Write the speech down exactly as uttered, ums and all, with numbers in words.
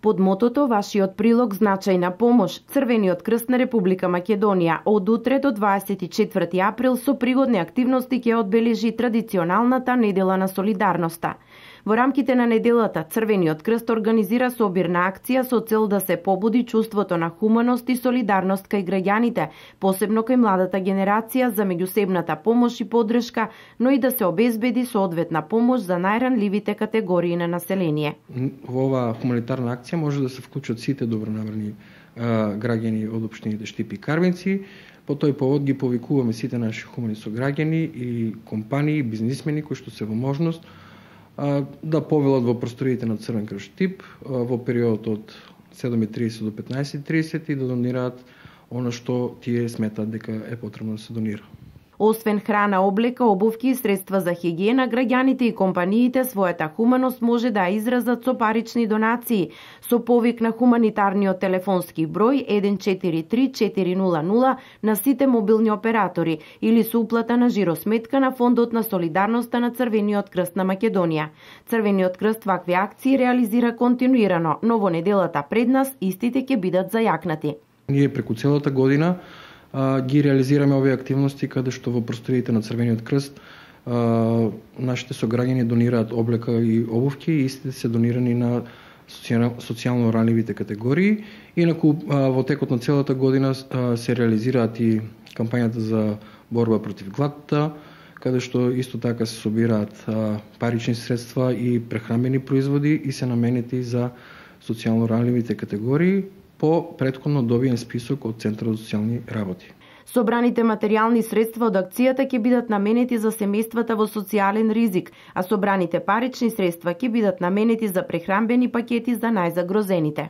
Под мотото "Вашиот прилог значајна помош", Црвениот крст на Република Македонија од утре до дваесет и четврти април со пригодни активности ќе одбележи традиционалната недела на солидарноста. Во рамките на неделата, Црвениот крст организира собирна акција со цел да се побуди чувството на хуманост и солидарност кај граѓаните, посебно кај младата генерација за меѓусебната помош и поддршка, но и да се обезбеди соодветна помош за најранливите категории на население. Во оваа хуманитарна акција може да се вклучат сите добронамерни граѓани од општините Штип и Карвинци. По тој повод ги повикуваме сите наши хумани сограѓани и компании, бизнисмени кои што се во можност да повелат во просториите на Црвен крст Штип во периодот од седум и тридесет до петнаесет и тридесет и да донираат она што тие сметаат дека е потребно да се донира. Освен храна, облека, обувки и средства за хигиена, граѓаните и компаниите својата хуманост може да изразат со парични донации, со повик на хуманитарниот телефонски број еден четири три четири нула нула на сите мобилни оператори или со уплата на жиросметка на Фондот на солидарноста на Црвениот крст на Македонија. Црвениот крст вакви акции реализира континуирано, но во неделата пред нас истите ќе бидат зајакнати. Ние преку целата година ги реализираме овие активности каде што во просториите на Црвениот крст а, нашите сограѓани донираат облека и обувки и истите се донирани на социјално ранливите категории. Инаку а, во текот на целата година а, се реализираат и кампањата за борба против гладта, каде што исто така се собираат а, парични средства и прехранбени производи и се наменети за социјално ранливите категории по претходно добиен список од Центарот за социјални работи. Собраните материјални средства од акцијата ќе бидат наменети за семејствата во социјален ризик, а собраните парични средства ќе бидат наменети за прехранбени пакети за најзагрозените.